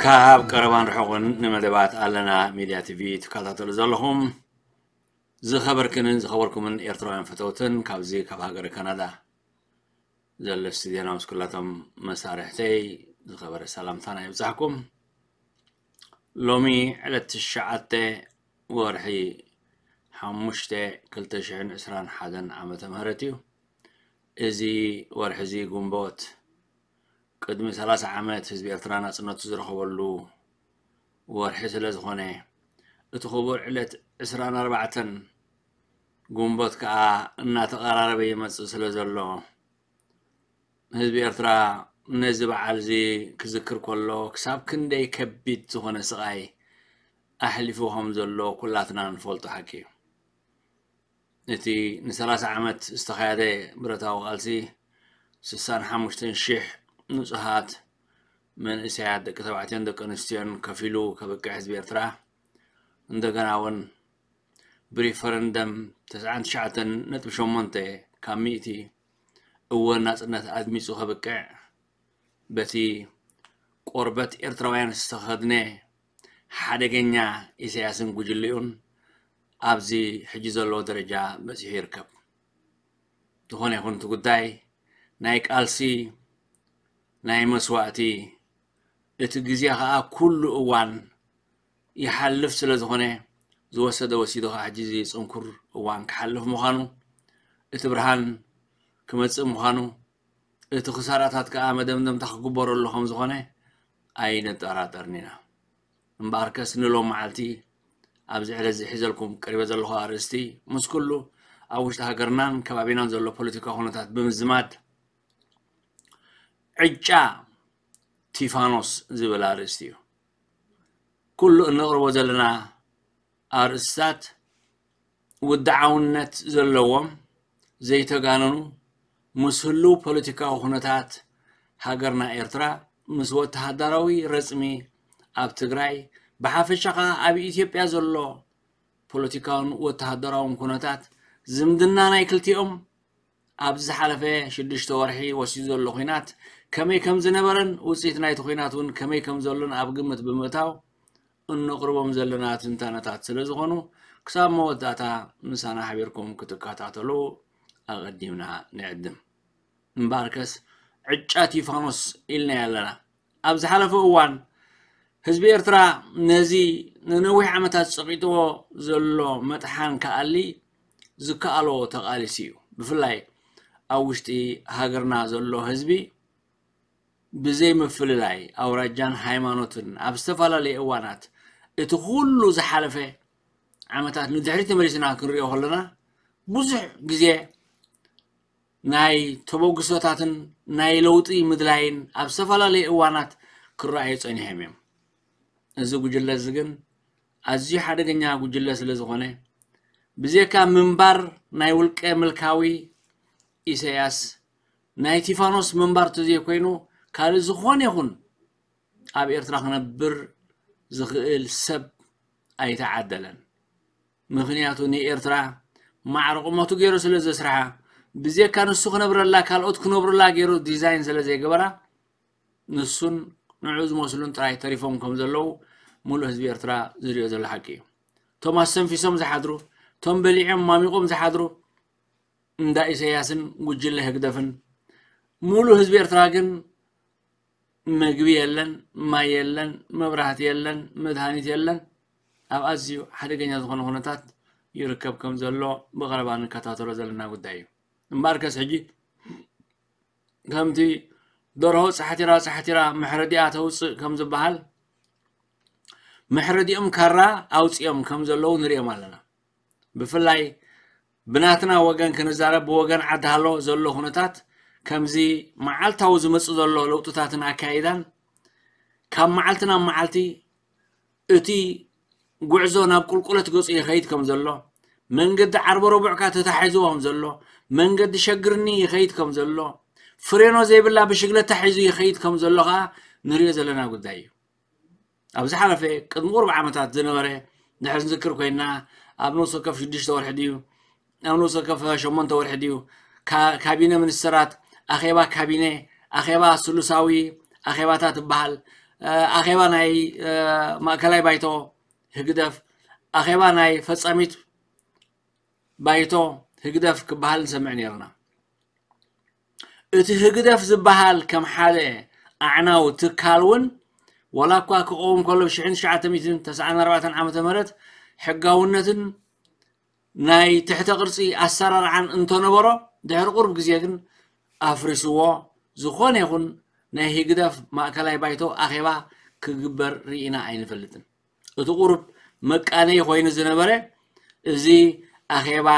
ካብ ቀረባን ርሑቕን ንመደባት ኣለና ሚድያ ቲቪ ትከታተሉ ዘለኹም ዝኸበርክንን ዝኸበርኩምን ኤርትራውያን ፈተውትን ካብዚ ካብ ሃገረ ካናዳ ዘለስቲ ዜና ምስ ኩላቶም መሳርሕተይ ዝኸበረ ሰላምታና ይብጻሕኩም። ሎሚ ዕለት ትሽዓተ ወርሒ ሓሙሽተ ክልተ ሽሕን ዕስራን ሓደን ዓመተ ምህረት እዩ። እዚ ወርሒ እዚ ግንቦት ቅድሚ ሰላሳ ዓመት ህዝቢ ኤርትራ ናጽነቱ ዝረኸበሉ ወርሒ ስለ ዝኾነ እቲ ክቡር ዕለት ዕስራን ኣርባዕተን ግንቦት ከኣ እናተቐራረበ ይመጽእ ስለ ዘሎ ህዝቢ ኤርትራ ነዚ በዓል እዚ ክዝክር ከሎ ክሳብ ክንደይ ከቢድ ዝኾነ ስቓይ ኣሕሊፉ ከም ዘሎ ኩላትና ንፈልጦ ሓቂ እዩ። እቲ ንሰላሳ ዓመት ዝተኻየደ ብረታዊ ቃልሲ ስሳን ሓሙሽተን ሽሕ ንጹሃት መንእሰያት ደቂ ተባዕትዮን ደቂ ኣንስትዮን ከፊሉ ከብቅዕ ህዝቢ ኤርትራ እንደገና እውን ብሪፈረንደም ተስዓን ትሽዓተን ነጥቢ ሸሞንተ ካብ ሚእቲ እወ ናጽነት ኣድሚጹ ከብቅዕ በቲ ቆርበት ኤርትራውያን ዝተኸድነ ሓደገኛ ኢሳያስን ጉጅልኡን ኣብዚ ሕጂ ዘለዎ ደረጃ በጺሑ ይርከብ። ዝኾነ ይኹን እቲ ጉዳይ ናይ ቃልሲ ናይ መስዋእቲ እቲ ግዜ ኸኣ ኩሉ እዋን ይሓልፍ ስለ ዝኾነ ዝወሰደ ወሲዱ ኸዓ ሕጂ እዚ ጽንኩር እዋን ክሓልፍ ምዃኑ እቲ ብርሃን ክመጽእ ምዃኑ እቲ ክሳራታት ከኣ መደምደምታ ክግበረሉ ከም ዝኾነ ኣይንጠራጠርን ኢና። እምበኣርከስ ንሎም መዓልቲ ኣብዚ ዕለት እዚ ሒዘልኩም ቀሪበ ዘለኹ ኣርእስቲ ምስ ኩሉ ኣብ ውሽጢ ሃገርናን ከባቢናን ዘሎ ፖለቲካዊ ኩነታት ብምዝማድ ዕጫ ቲፋኖስ ዝብል ኣርእስቲ እዩ። ኩሉ እነቕርቦ ዘለና ኣርእስታት ውድዓውነት ዘለዎም ዘይተጋነኑ ምስ ህልው ፖለቲካዊ ኩነታት ሃገርና ኤርትራ ምስ ወተሃደራዊ ረጽሚ ኣብ ትግራይ ብሓፈሻ ኸኣ ኣብ ኢትዮጵያ ዘሎ ፖለቲካውን ወተሃደራውን ኩነታት ዝምድና ናይ ክልቲኦም ኣብዚ ዝሓለፈ ሽዱሽተ ወርሒ ወሲዱ ዘሎ ኹናት ከመይ ከም ዝነበረን ውፅኢት ናይቲ ኹናት እውን ከመይ ከም ዘሎን ኣብ ግምት ብምእታው እነቕርቦም ዘለና ትንታነታት ስለ ዝኾኑ ክሳብ መወዳእታ ምሳና ሓቢርኩም ክትከታተሉ ኣቐዲምና ንዕድም። እምበኣርከስ ዕጫ ቲፋኖስ ኢልናዮ ኣለና። ኣብ ዝሓለፈ እዋን ህዝቢ ኤርትራ ነዚ ንነዊሕ ዓመታት ጸቒጥዎ ዘሎ መጥሓን ክኣሊ ዝከኣሎ ተቓሊሱ እዩ። ብፍላይ ኣብ ውሽጢ ሃገርና ዘሎ ህዝቢ ብዘይ ምፍልላይ ኣውራጃን ሃይማኖትን ኣብ ዝተፈላለየ እዋናት እቲ ኩሉ ዝሓለፈ ዓመታት ንድሕሪት ተመሊስና ክንሪኦ ከለና ብዙሕ ግዜ ናይ ተበግሶታትን ናይ ለውጢ ምድላይን ኣብ ዝተፈላለየ እዋናት ክረኣዩ ጸኒሖም እዮም። እዚ ጉጅለ እዚ ግን ኣዝዩ ሓደገኛ ጉጅለ ስለ ዝኾነ ብዘይካ ምንባር ናይ ውልቀ ምልካዊ ኢሳያስ ናይ ቲፋኖስ ምንባር ተዘይኮይኑ ካልእ ዝኾነ ይኹን ኣብ ኤርትራ ክነብር ዝኽእል ሰብ ኣይተዓደለን። ምኽንያቱ ንኤርትራ ማዕረ ቁመቱ ገይሩ ስለ ዘስርሓ ብዘይካ ንሱ ክነብረላ ካልኦት ክነብሩላ ገይሩ ዲዛይን ስለ ዘይገበራ ንሱን ንዑ ዝመስሉን ጥራይ ተሪፎም ከም ዘለዉ ሙሉእ ህዝቢ ኤርትራ ዝሪኦ ዘሎ ሓቂ እዩ። እቶም ኣስተንፊሶም ዝሓድሩ፣ እቶም በሊዖም ማሚቖም ዝሓድሩ እንዳ ኢሳያስን ጉጅለ ህግደፍን ሙሉእ ህዝቢ ኤርትራ ግን መግቢ የለን፣ ማይ የለን፣ መብራህቲ የለን፣ መድሃኒት የለን። ኣብ ኣዝዩ ሓደገኛ ዝኾነ ኩነታት ይርከብ ከም ዘሎ ብቐረባ ንከታተሎ ዘለና ጉዳይ እዩ። እምበኣርከስ ሕጂ ከምቲ ደርሆ ጻሕቲራ ጻሕቲራ መሕረዲኣ ተውጽእ ከም ዝበሃል መሕረዲኦም ካራ ኣውጺኦም ከም ዘለዉ ንሪኦም ኣለና። ብፍላይ ብናትና ወገን ክንዛረብ ብወገን ዓዲ ሃሎ ዘሎ ኩነታት ከምዚ መዓልታዊ ዝመጽእ ዘሎ ለውጥታትን ኣካይዳን ካብ መዓልቲ ናብ መዓልቲ እቲ ጉዕዞ ናብ ቁልቁለት ገጹ ይኸይድ ከም ዘሎ መንገዲ ዓርበ ረቡዕካ ተታሒዝዎ ከም ዘሎ መንገዲ ሸግርኒ ይኸይድ ከም ዘሎ ፍሬኖ ዘይብላ ብሽግለታ ሒዙ ይኸይድ ከም ዘሎ ከዓ ንሪኦ ዘለና ጉዳይ እዩ። ኣብ ዝሓለፈ ቅድሚ ቁሩብ ዓመታት ዝነበረ ድሕር ንዝክር ኮይና ኣብ ነፍሲ ወከፍ ሽዱሽተ ወርሒ ድዩ ኣብ ነፍሲ ወከፍ ሸሞንተ ወርሒ ድዩ ካቢነ ሚኒስትራት ኣኼባ ካቢነ ኣኼባ ስሉሳዊ ኣኼባታት ይበሃል ኣኼባ ናይ ማእከላይ ባይቶ ህግደፍ፣ ኣኼባ ናይ ፈጻሚት ባይቶ ህግደፍ ክበሃል ንሰምዕ ነይርና። እቲ ህግደፍ ዝበሃል ከም ሓደ ኣዕናዊ ትካል እውን ዋላ እኳ ክቐውም ከሎ ብ ሽሕን ትሽዓተ ሚእትን ተስዓን ኣርባዕተን ዓመተ ምህረት ሕጋውነትን ናይ ትሕተ ቅርጺ ኣሰራርዓን እንተነበሮ ድሕሪ ቁሩብ ግዜ ግን ኣፍሪስዎ። ዝኾነ ይኹን ናይ ህግደፍ ማእከላይ ባይቶ ኣኼባ ክግበር ርኢና ኣይንፈልጥን። እቲ ቁሩብ መቃነይ ኮይኑ ዝነበረ እዚ ኣኼባ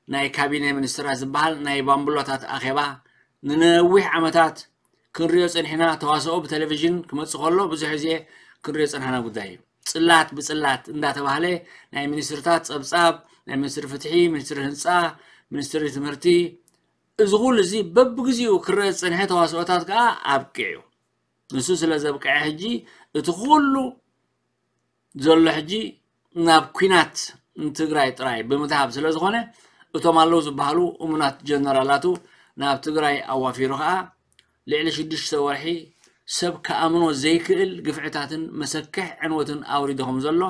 ናይ ካቢነ ሚኒስትራት ዝበሃል ናይ ባምብሎታት ኣኼባ ንነዊሕ ዓመታት ክንሪኦ ጸኒሕና። ተዋስኦ ብቴሌቪዥን ክመጽእ ከሎ ብዙሕ ግዜ ክንሪኦ ጸንሓና ጉዳይ እዩ። ጽላት ብጽላት እንዳተባህለ ናይ ሚኒስትርታት ጸብጻብ፣ ናይ ሚኒስትሪ ፍትሒ፣ ሚኒስትሪ ህንጻ፣ ሚኒስትሪ ትምህርቲ፣ እዚ ኩሉ እዚ በብግዚኡ ክረአ ዝጸንሐ ተዋስኦታት ከኣ ኣብቂዑ። ንሱ ስለ ዘብቅዐ ሕጂ እቲ ኩሉ ዘሎ ሕጂ ናብ ኲናት ንትግራይ ጥራይ ብምትሃብ ስለ ዝኾነ እቶም ኣለዉ ዝበሃሉ እሙናት ጀነራላቱ ናብ ትግራይ ኣዋፊሩ ከኣ ልዕሊ ሽዱሽተ ወርሒ ሰብ ክኣምኖ ዘይክእል ግፍዕታትን መሰክሕ ዕንወትን ኣውሪዱ ከም ዘሎ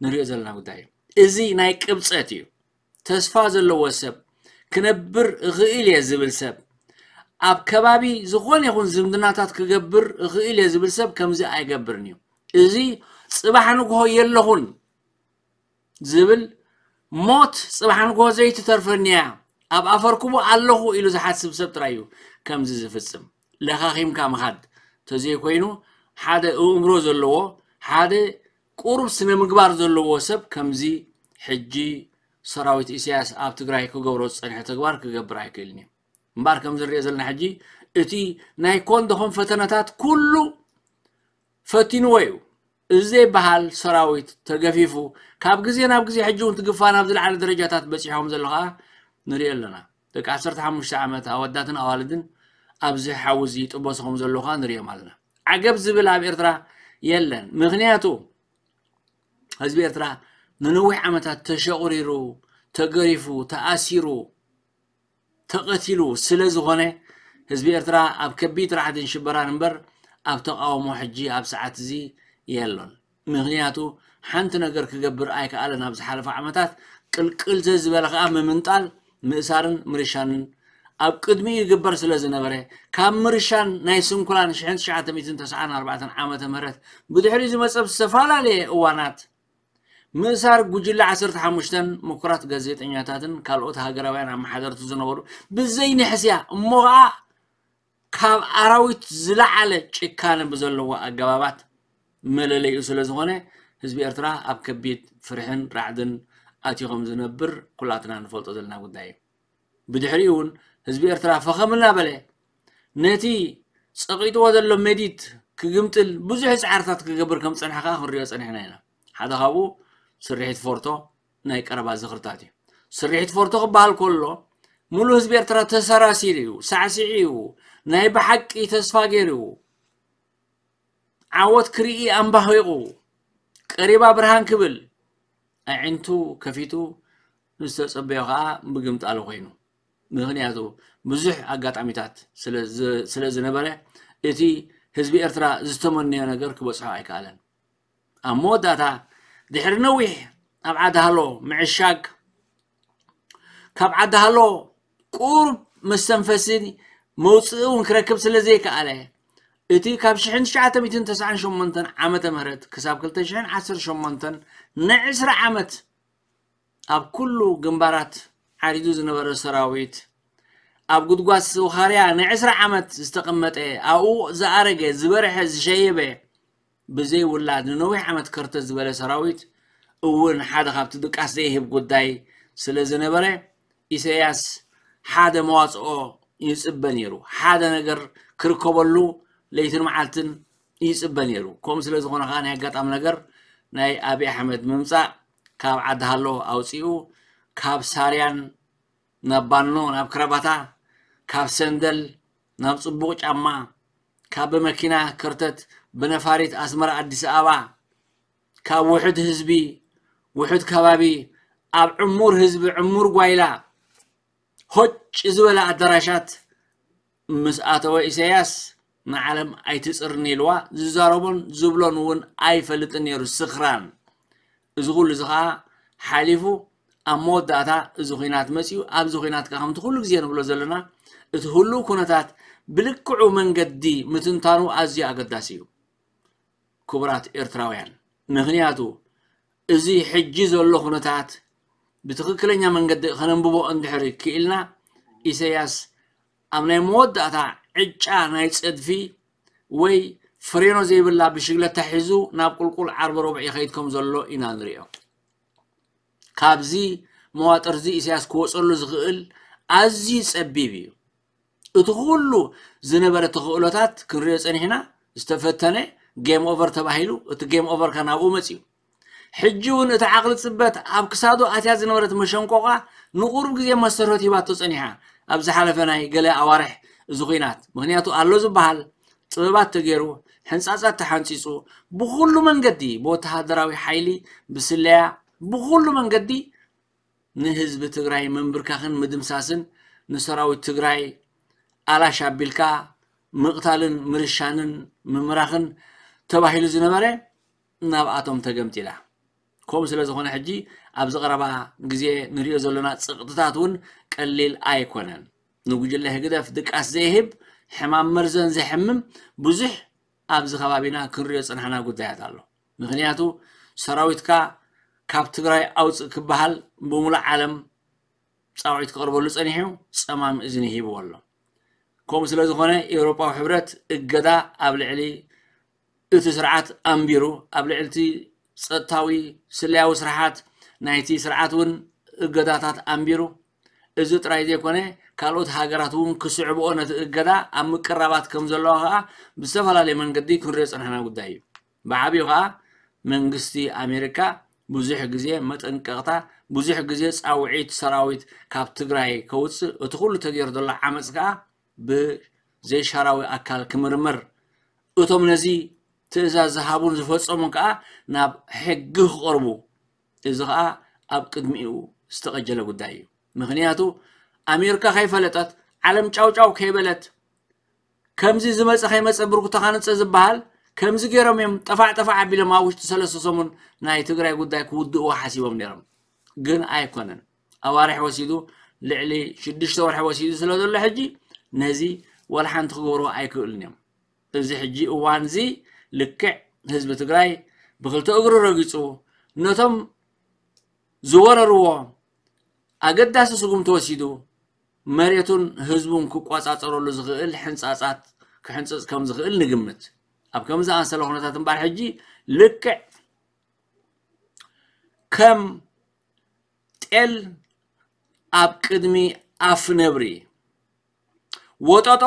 ንሪኦ ዘለና ጉዳይ እዩ። እዚ ናይ ቅብጸት እዩ። ተስፋ ዘለዎ ሰብ፣ ክነብር እኽእል እየ ዝብል ሰብ፣ ኣብ ከባቢ ዝኾነ ይኹን ዝምድናታት ክገብር እኽእል እየ ዝብል ሰብ ከምዚ ኣይገብርን እዩ። እዚ ጽባሕ ንግሆ የለኹን ዝብል፣ ሞት ጽባሕ ንግሆ ዘይትተርፈኒ እያ፣ ኣብ ኣፈርኩቡ ኣለኹ ኢሉ ዝሓስብ ሰብ ጥራይ እዩ ከምዚ ዝፍጽም። ለኻኺምካ ምኻድ ተዘይኮይኑ ሓደ እእምሮ ዘለዎ፣ ሓደ ቁሩብ ስነ ምግባር ዘለዎ ሰብ ከምዚ ሕጂ ሰራዊት ኢሳያስ ኣብ ትግራይ ክገብሮ ዝጸንሐ ተግባር ክገብር ኣይክእልን እዩ። እምበኣር ከም ዝንሪኦ ዘለና ሕጂ እቲ ናይ ኮን ደኾን ፈተነታት ኩሉ ፈቲንዎ እዩ። እዚ ዘይበሃል ሰራዊት ተገፊፉ ካብ ግዜ ናብ ግዜ ሕጂ እውን ትግፋ ናብ ዝለዓለ ደረጃታት በጺሖም ዘሎ ከዓ ንሪኦ ኣለና። ደቂ ዓሰርተ ሓሙሽተ ዓመት ኣወዳትን ኣዋልድን ኣብዚ ሓዊ እዚ ይጥበሱ ከም ዘለዉ ከዓ ንሪኦም ኣለና። ዓገብ ዝብል ኣብ ኤርትራ የለን። ምኽንያቱ ህዝቢ ኤርትራ ንነዊሕ ዓመታት ተሸቑሪሩ፣ ተገሪፉ፣ ተኣሲሩ፣ ተቐቲሉ ስለ ዝኾነ ህዝቢ ኤርትራ ኣብ ከቢድ ራዕድን ሽበራን እምበር ኣብ ተቓውሞ ሕጂ ኣብ ሰዓት እዚ የሎን። ምኽንያቱ ሓንቲ ነገር ክገብር ኣይከኣለን። ኣብ ዝሓለፈ ዓመታት ቅልቅል ዘዝበለ ከኣ ምምንጣል፣ ምእሳርን ምርሻንን ኣብ ቅድሚኡ ይግበር ስለ ዝነበረ ካብ ምርሻን ናይ ስንኩላን ሽሕን ትሽዓተ ሚእትን ተስዓን ኣርባዕተን ዓመተ ምህረት ብድሕሪኡ ዝመጸ ብዝተፈላለየ እዋናት ምእሳር ጉጅለ ዓሰርተ ሓሙሽተን ምኩራት ጋዜጠኛታትን ካልኦት ሃገራውያን ኣመሓደርቲ ዝነበሩ ብዘይ ንሕስያ እሞ ኸዓ ካብ ኣራዊት ዝለዓለ ጭካነ ብዘለዎ ኣገባባት መለለይኡ ስለ ዝኾነ ህዝቢ ኤርትራ ኣብ ከቢድ ፍርሕን ራዕድን ኣትዩ ከም ዝነብር ኩላትና ንፈልጦ ዘለና ጉዳይ እዩ። ብድሕሪኡ እውን ህዝቢ ኤርትራ ፈኸም እናበለ ነቲ ጸቒጥዎ ዘሎ መዲት ክግምጥል ብዙሕ ጻዕርታት ክገብር ከም ዝጸንሐ ከኣ ክንሪኦ ጸኒሕና ኢና። ሓደ ካብኡ ስርሒት ፎርቶ ናይ ቀረባ ዝኽርታት እዩ። ስርሒት ፎርቶ ክበሃል ከሎ ሙሉእ ህዝቢ ኤርትራ ተሰራሲሩ እዩ፣ ሳዕሲዑ እዩ፣ ናይ ብሓቂ ተስፋ ገይሩ እዩ። ዓወት ክርኢ ኣምባኺቑ ቀሪባ ብርሃን ክብል ኣዒንቱ ከፊቱ ንዝተጸበዮ ከኣ ምግምጣሉ ኮይኑ። ምኽንያቱ ብዙሕ ኣጋጣሚታት ስለ ዝ-፣ ስለ ዝነበረ እቲ ህዝቢ ኤርትራ ዝተመነዮ ነገር ክበጽሖ ኣይከኣለን። ኣብ መወዳእታ ድሕሪ ነዊሕ ኣብ ዓዲ ሃሎ ምዕሻግ ካብ ዓዲ ሃሎ ቁሩብ መስተንፈሲ መውፅኢ እውን ክረክብ ስለ ዘይከኣለ እቲ ካብ ሽሕን ትሽዓተ ሚእትን ተስዓን ሸሞንተን ዓመተ ምህረት ክሳብ ክልተ ሽሕን ዓሰርተ ሸሞንተን ንዕስራ ዓመት ኣብ ኩሉ ግንባራት ዓሪዱ ዝነበረ ሰራዊት ኣብ ጉድጓድ ስውኻርያ ንዕስራ ዓመት ዝተቐመጠ ኣብኡ ዝኣረገ ዝበርሐ ዝሸየበ ብዘይ ውላድ ንነዊሕ ዓመት ከርተት ዝበለ ሰራዊት እውን ሓደ ካብቲ ድቃስ ዘይህብ ጉዳይ ስለ ዝነበረ ኢሳያስ ሓደ መዋፅኦ ይፅበ ነይሩ። ሓደ ነገር ክርከበሉ ለይትን መዓልትን ይፅበ ነይሩ። ከምኡ ስለ ዝኾነ ከዓ ናይ ኣጋጣሚ ነገር ናይ ኣብይ ኣሕመድ ምምፃእ ካብ ዓዲ ሃሎ ኣውፂኡ ካብ ሳርያን ናብ ባኖ ናብ ክረባታ ካብ ሰንደል ናብ ፅቡቕ ጫማ ካብ ብመኪና ከርተት ብነፋሪት ኣስመራ ኣዲስ ኣበባ ካብ ውሑድ ህዝቢ ውሑድ ከባቢ ኣብ ዕሙር ህዝቢ ዕሙር ጓይላ ሆጭ ዝበለ ኣዳራሻት ምስ ኣተወ ኢሳያስ ንዓለም ኣይትጽርን ኢልዋ፣ ዝዛረቦን ዝብሎን እውን ኣይፈልጥን ነይሩ፣ ስኽራን። እዚ ኩሉ እዚ ኸዓ ሓሊፉ ኣብ መወዳእታ እዚ ኹናት መጺኡ። ኣብዚ ኹናት ከኣ ከምቲ ኩሉ ግዜ ንብሎ ዘለና፣ እቲ ህሉው ኩነታት ብልክዑ መንገዲ ምትንታኑ ኣዝዩ ኣገዳሲ እዩ። ክቡራት ኤርትራውያን፣ ምኽንያቱ እዚ ሕጂ ዘሎ ኩነታት ብትኽክለኛ መንገዲ ከነንብቦ እንድሕር ክኢልና፣ ኢሳያስ ኣብ ናይ መወዳእታ ዕጫ ናይ ጸድፊ ወይ ፍሬኖ ዘይብላ ብሽግለታ ሒዙ ናብ ቁልቁል ዓርቢ ረቡዕ ይኸይድ ከም ዘሎ ኢና ንሪኦ። ካብዚ መዋጥር እዚ ኢሳያስ ክወጸሉ ዝኽእል ኣዝዩ ጸቢብ እዩ። እቲ ኩሉ ዝነበረ ተኽእሎታት ክንሪኦ ጸኒሕና፣ ዝተፈተነ ጌም ኦቨር ተባሂሉ፣ እቲ ጌም ኦቨር ከ ናብኡ መጺኡ። ሕጂ እውን እቲ ዓቕሊ ጽበት ኣብ ክሳዱ ኣትያ ዝነበረት መሸንቆቓ ንቑሩብ ግዜ መስተርሆት ሂባቶ ጸኒሓ። ኣብ ዝሓለፈ ናይ ገለ ኣዋርሕ እዚ ኹናት፣ ምኽንያቱ ኣሎ ዝበሃል ጥበባት ተገይሩ፣ ሕንጻጻት ተሓንጺጹ፣ ብኹሉ መንገዲ፣ ብወተሃደራዊ ሓይሊ፣ ብስለያ፣ ብኹሉ መንገዲ ንህዝቢ ትግራይ ምንብርካኽን ምድምሳስን፣ ንሰራዊት ትግራይ ኣላሽ ኣቢልካ ምቕታልን ምርሻንን ምምራኽን ተባሂሉ ዝነበረ ናብኣቶም ተገምጢላ። ከምኡ ስለ ዝኾነ ሕጂ ኣብዚ ቀረባ ግዜ ንሪኦ ዘለና ጸቕጥታት እውን ቀሊል ኣይኮነን። ንጉጅለ ህግደፍ ድቃስ ዘይህብ ሕማም መርዘን ዘሕምም ብዙሕ ኣብዚ ከባቢና ክንሪኦ ዝጸናሕና ጉዳያት ኣሎ። ምኽንያቱ ሰራዊትካ ካብ ትግራይ ኣውፅእ ክበሃል ብሙሉእ ዓለም ፃውዒት ክቐርበሉ ፀኒሑ፣ ፀማም እዝኒ ሂብዎ ኣሎ። ከምኡ ስለ ዝኾነ ኤውሮጳዊ ሕብረት እገዳ ኣብ ልዕሊ እቲ ስርዓት ኣንቢሩ፣ ኣብ ልዕሊ እቲ ጸጥታዊ ስለያዊ ስርሓት ናይቲ ስርዓት እውን እገዳታት ኣንቢሩ። እዚ ጥራይ ዘይኮነ፣ ካልኦት ሃገራት እውን ክስዕብኦ ነቲ እገዳ ኣብ ምቅራባት ከም ዘለዋ ከኣ ብዝተፈላለየ መንገዲ ክንሪኦ ዝጸናሕና ጉዳይ እዩ። ብዓቢኡ ከኣ መንግስቲ ኣሜሪካ ብዙሕ ግዜ መጠንቀቕታ፣ ብዙሕ ግዜ ጻውዒት ሰራዊት ካብ ትግራይ ከውጽእ፣ እቲ ኩሉ ተገይሩ ዘሎ ዓመጽ ከኣ ብዘይሻራዊ ኣካል ክምርመር፣ እቶም ነዚ ትእዛዝ ዝሃቡን ዝፈጸሙን ከኣ ናብ ሕጊ ክቐርቡ፣ እዚ ከኣ ኣብ ቅድሚኡ ዝተቐጀለ ጉዳይ እዩ። ምኽንያቱ ኣሜሪካ ከይፈለጠት፣ ዓለም ጫውጫው ከይበለት፣ ከምዚ ዝመጸ ከይመጸ ብርኩ ተኻንጸ ዝበሃል፣ ከምዚ ገይሮም እዮም ጠፋዕ ጠፋዕ ኣቢሎም ኣብ ውሽጢ ሰለስተ ሰሙን ናይ ትግራይ ጉዳይ ክውድእዎ ሓሲቦም ነይሮም። ግን ኣይኮነን። ኣዋርሕ ወሲዱ፣ ልዕሊ ሽዱሽተ ወርሒ ወሲዱ ስለ ዘሎ ሕጂ ነዚ ወላ ሓንቲ ክገብርዎ ኣይክእሉን እዮም። እዚ ሕጂ እዋን እዚ ልክዕ ህዝቢ ትግራይ ብክልተ እግሩ ረጊጹ፣ ነቶም ዝወረርዎ ኣገዳሲ ስጉምቲ ወሲዱ፣ መሬቱን ህዝቡን ክቆጻጸረሉ ዝኽእል ሕንጻጻት ክሕንጽጽ ከም ዝኽእል ንግምት። ኣብ ከምዚ ኣንሰለ ኩነታት እምበኣር ሕጂ ልክዕ ከም ጤል ኣብ ቅድሚ ኣፍ ነብሪ፣ ወጠጦ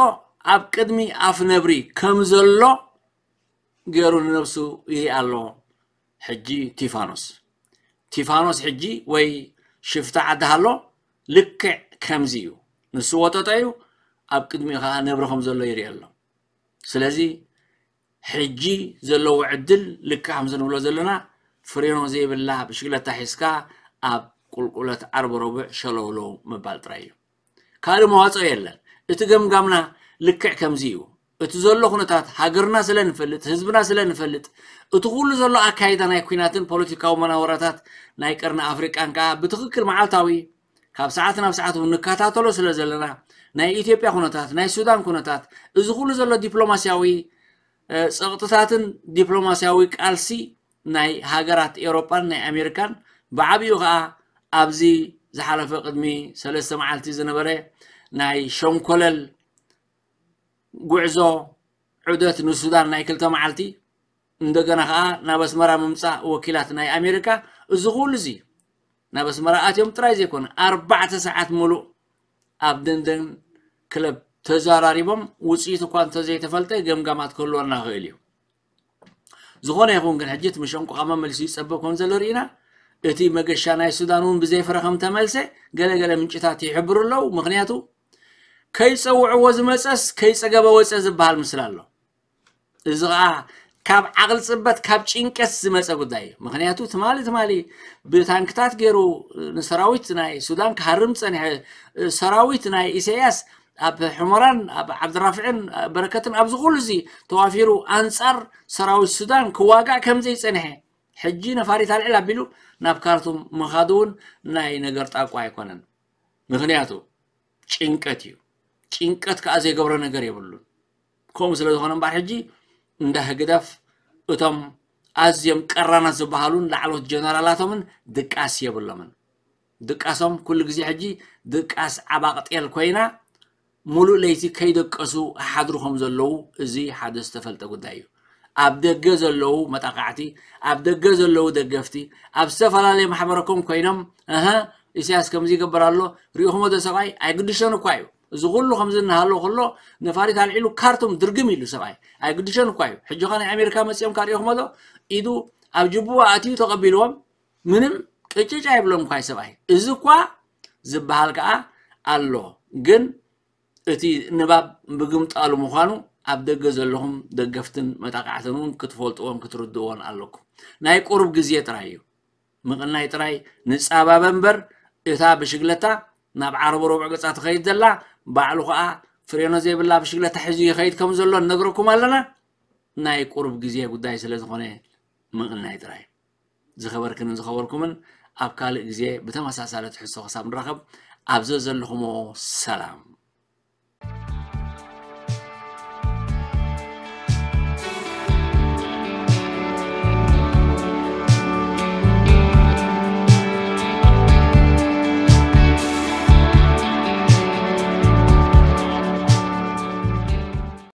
ኣብ ቅድሚ ኣፍ ነብሪ ከም ዘሎ ገይሩ ንነብሱ ይርኢ ኣሎ። ሕጂ ቲፋኖስ፣ ቲፋኖስ ሕጂ ወይ ሽፍታ ዓዲ ሃሎ ልክዕ ከምዚ እዩ። ንሱ ወጠጦ እዩ፣ ኣብ ቅድሚኡ ከኣ ነብሪ ከም ዘሎ ይርኢ ኣሎ። ስለዚ ሕጂ ዘለዎ ዕድል ልክዕ ከምዚ ንብሎ ዘለና ፍሬኖ ዘይብላ ብሽግለታ ሒዝካ ኣብ ቁልቁለት ዓርቢ ረቡዕ ሸለውለው ምባል ጥራይ እዩ። ካልእ መዋፅኦ የለን። እቲ ገምጋምና ልክዕ ከምዚ እዩ። እቲ ዘሎ ኩነታት ሃገርና ስለ ንፈልጥ፣ ህዝብና ስለ ንፈልጥ፣ እቲ ኩሉ ዘሎ ኣካይዳ ናይ ኩናትን ፖለቲካዊ መናወራታት ናይ ቀርኒ ኣፍሪቃን ከዓ ብትኽክል መዓልታዊ ካብ ሰዓት ናብ ሰዓት እውን ንከታተሎ ስለ ዘለና፣ ናይ ኢትዮጵያ ኩነታት፣ ናይ ሱዳን ኩነታት፣ እዚ ኩሉ ዘሎ ዲፕሎማስያዊ እ፣ ጸቕጥታትን ዲፕሎማስያዊ ቃልሲ ናይ ሃገራት ኤውሮጳን ናይ ኣሜሪካን፣ ብዓቢኡ ከኣ ኣብዚ ዝሓለፈ ቅድሚ ሰለስተ መዓልቲ ዝነበረ ናይ ሸንኮለል ጉዕዞ ዑደት ንሱዳን ናይ ክልተ መዓልቲ፣ እንደገና ከኣ ናብ ኣስመራ ምምጻእ ወኪላት ናይ ኣሜሪካ፣ እዚ ኩሉ እዚ ናብ ኣስመራ ኣትዮም ጥራይ ዘይኮነ፣ ኣርባዕተ ሰዓት ምሉእ ኣብ ደንደን ክለብ ተዘራሪቦም፣ ውጽኢት እኳ እንተዘይተፈልጠ ገምጋማት ክህልወና ይኽእል እዩ። ዝኾነ ይኹን ግን፣ ሕጂ እቲ መሸንቆቓ መመሊሱ ይጸበብ ከም ዘሎ ርኢና፣ እቲ መገሻ ናይ ሱዳን እውን ብዘይ ፍረ ከም ተመልሰ ገለ ገለ ምንጭታት ይሕብሩ ኣለዉ። ምኽንያቱ፣ ከይጸውዕዎ ዝመጸስ ከይጸገበ ወጸ ዝበሃል ምስላ ኣሎ። እዚ ኸኣ ካብ ዓቕሊ ጽበት፣ ካብ ጭንቀት ዝመጸ ጉዳይ እዩ። ምኽንያቱ፣ ትማሊ፣ ትማሊ ብታንክታት ገይሩ ንሰራዊት ናይ ሱዳን ክሃርም ጸኒሐ፣ ሰራዊት ናይ ኢሳያስ ኣብ ሕመራን ኣብ ዓብድራፍዕን በረከትን ኣብዚ ኩሉ እዚ ተዋፊሩ ኣንጻር ሰራዊት ሱዳን ክዋጋእ ከም ዘይጸንሐ፣ ሕጂ ነፋሪት ኣልዕል ኣቢሉ ናብ ካርቱም ምኻዱ እውን ናይ ነገር ጣቋ ኣይኮነን። ምኽንያቱ ጭንቀት እዩ። ጭንቀት ከኣ ዘይገብሮ ነገር የብሉን። ከምኡ ስለ ዝኾነ እምበኣር ሕጂ እንዳ ህግደፍ እቶም ኣዝዮም ቀራናት ዝበሃሉን ላዕሎት ጀነራላቶምን ድቃስ የብሎምን። ድቃሶም ኩሉ ግዜ ሕጂ ድቃስ ዓባቕ ጤል ኮይና ሙሉእ ለይቲ ከይደቀሱ ሓድሩ ከም ዘለዉ እዚ ሓደ ዝተፈልጠ ጉዳይ እዩ። ኣብ ደገ ዘለዉ መጣቃዕቲ፣ ኣብ ደገ ዘለዉ ደገፍቲ፣ ኣብ ዝተፈላለየ ማሕበረኮም ኮይኖም እህ ኢሳያስ ከምዚ ይገብር ኣሎ ሪኢኹሞ ዶ ሰብኣይ ኣይግድሾን እኳ እዩ። እዚ ኩሉ ከምዚ እናሃለወ ከሎ ነፋሪት ኣልዒሉ ካርቱም ድርግም ኢሉ ሰብኣይ ኣይግድሾን እኳ እዩ። ሕጂ ኸ ናይ ኣሜሪካ መፂኦም ካሪኢኹሞ ዶ ኢዱ ኣብ ጅቡዋ ኣትዩ ተቐቢልዎም ምንም ቅጭጭ ኣይብሎም እኳ እዩ ሰብኣይ። እዚ እኳ ዝበሃል ከዓ ኣሎ ግን እቲ ንባብ ብግምጣሉ ምዃኑ ኣብ ደገ ዘለኹም ደገፍትን መጣቃዕትን እውን ክትፈልጥዎን ክትርድእዎን ኣለኩም። ናይ ቁሩብ ግዜ ጥራይ እዩ። ምቕናይ ጥራይ ንጻባበ እምበር እታ ብሽግለታ ናብ ዓረቡ ረቡዕ ገጻ ትኸይድ ዘላ ባዕሉ ኸኣ ፍሬኖ ዘይብላ ብሽግለታ ሒዙ ይኸይድ ከም ዘሎ ንነግረኩም ኣለና። ናይ ቁሩብ ግዜ ጉዳይ ስለ ዝኾነ ምቕናይ ጥራይ። ዝኸበርክንን ዝኸበርኩምን ኣብ ካልእ ግዜ ብተመሳሳለ ትሕዝቶ ክሳብ ንራኸብ ኣብ ዘዘለኹሞ ሰላም።